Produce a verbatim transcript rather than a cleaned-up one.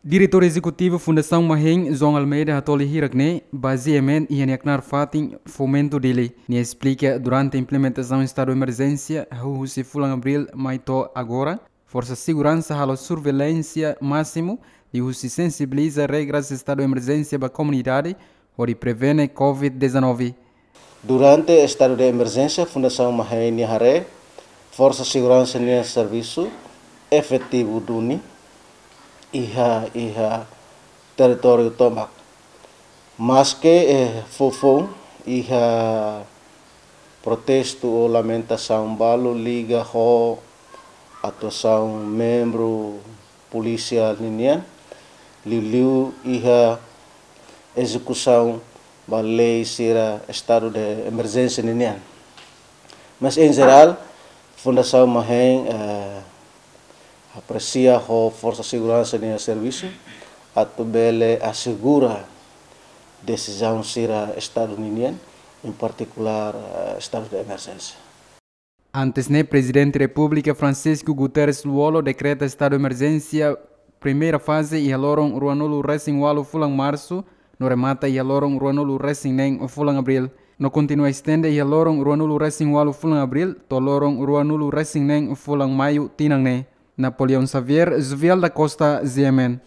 Diretór Ezekutivu Fundasaun Mahein, João Almeida, hato'o hirak-ne'e ba G M N iha nia knaar fatin Fomento Dili. Nia esplika durante implementasaun estadu emerjénsia, hahú husi fulan Abríl mai to'o agora, forsa seguransa halo surveilánsia másimu, liuhusi sensibiliza regras estadu emerjénsia ba komunidade, hodi prevene covid dezanove. Durante estadu de emerjénsia, Fundasaun Mahein nia haree, forsa seguransa nia servisu efetivu duni iha, iha territóriu tomak. Maske, eh, fofoun iha protestu ou lamentasaun balu liga ho atuasaun membru polísia ninian, liuliu iha ezekusaun ba lei sira estadu de emerjénsia ninian. Mas, em geral, Fundasaun Mahein, eh, apresia ho forsa seguransa nia servisu atu bele asegura desizaun sira estadu ninian, em particular, eh, estadu de emerjénsia. Antes ne'e, Prezidente Repúblika Francisco Guterres Lú-Olo dekreta estadu emerjénsia primeira faze iha loron ruanulu resin ualu fulan Marsu, no remata iha loron ruanulu resin neen fulan Abríl. No kontinua estende iha loron ruanulu resin ualu fulan Abríl to'o loron ruanulu resin neen fulan Maiu tinan ne'e. Napoleão Xavier, Jovial da Costa, G M N.